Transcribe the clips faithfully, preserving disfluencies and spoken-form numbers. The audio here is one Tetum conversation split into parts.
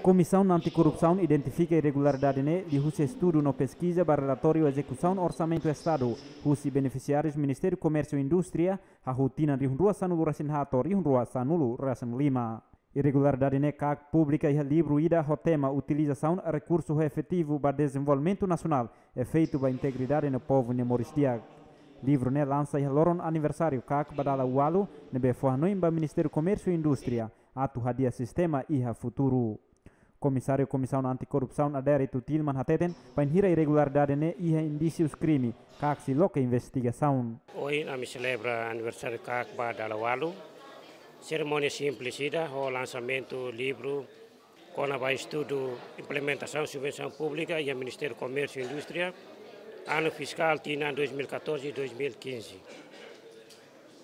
Komisaun Anti-Korrupsaun identifika irregularidade ne'e liuhusi estudu no peskiza ba relatóriu ezekusaun orsamentu Estadu husi benefisiárius Ministériu Komérsiu Indústria, hahú tinan rihun rua sanulu resin haat to'o rihun rua sanulu resin lima. Irregularidade ne'e KAK publika iha livru ida ho tema Utilizasaun Rekursu Efetivu ba Dezenvolvimentu Nasionál, Efeitu ba Integridade no Povu nia Moris Di'ak. Livru ne'e lansa iha loron aniversáriu KAK ba dala ualu, ne'ebé fó hanoin ba Ministériu Komérsiu Indústria atu hadi'a sistema iha futuru. Komisáriu Komisaun Anti-Korrupsaun Adérito Tilman hateten, bainhira irregularidade ne'e iha indísius krime, KAK sei loke investigasaun. Ohin ami selebra aniversáriu KAK ba dala ualu. Serimónia simples ida, ho lansamentu livru kona-ba estudu implementasaun subvensaun públika iha Ministériu Komérsiu Indústria, anu fiskál tinan dois mil e catorze e dois mil e quinze.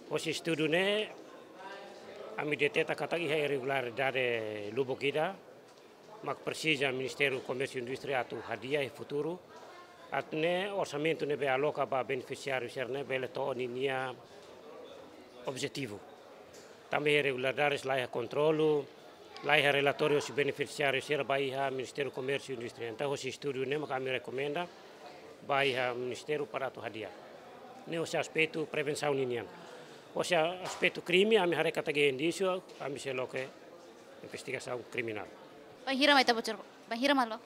Hosi estudu ne'e, ami deteta katak iha irregularidade lubuk ida, mak presiza Ministériu Komérsiu Indústria atu hadi'a iha futuru, atu nune'e orsamentu ne'ebé aloka ba benefisiáriu sira-ne'e bele to'o ninia objetivu. Tanba irregularidades la iha kontrolu, la iha relatóriu husi benefisiáriu sira ba iha Ministériu Komérsiu Indústria. Entaun, hosi estudu ne'e mak ami rekomenda ba iha Ministériu para atu hadi'a. Ne'e hosi aspetu prevensaun ninian. Hosi aspetu krime, ami haree katak iha indísiu, ami sei loke investigasaun kriminál. Bainhira mai ita bocor, bainhira mai loke?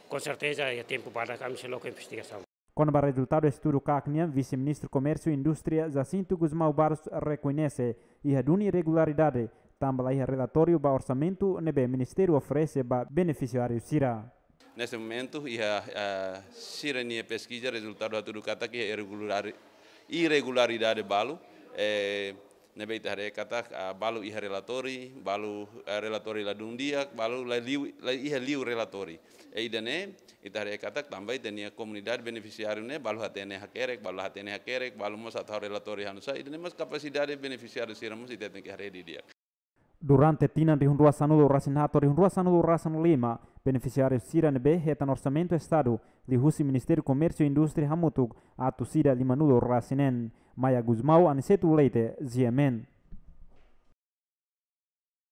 Com certeza, iha tempu badak ami sei loke investigasaun. Kona-ba rezultadu estudu KAK nian, Vise-Ministru Komérsiu Indústria Jacinto Gusmão Barros rekoñese iha duni irregularidade, tanba la iha relatóriu ba orsamentu ne'ebé Ministériu oferese ba benefisiáriu sira. Neste momento, iha, ah, sira-nia peskiza rezultadu hatudu katak iha irregulari-, irregularidade balu, eh, ne'ebé ita haree katak, ah, balu iha relatóriu, balu, ah, relatóriu ladún di'ak, balu la liu, la iha liu relatóriu. I ida-ne'e, ita haree katak tanba ita-nia komunidade benefisiáriu ne'e, balu hatene hakerek, balu hatene hakerek, balu mós atu halo relatóriu hanusá, ida-ne'e mós kapasidade benefisiáriu sira mós ita tenke haree didi'ak. Durante tinan rihun rua sanulu resin haat to'o rihun rua sanulu resin lima, benefisiáriu sira ne'ebé hetan orsamentu Estadu liuhusi Ministériu Komérsiu Indústria hamutuk atus ida limanulu resin neen. Maia Gusmão, Aniceto Leite, G M N.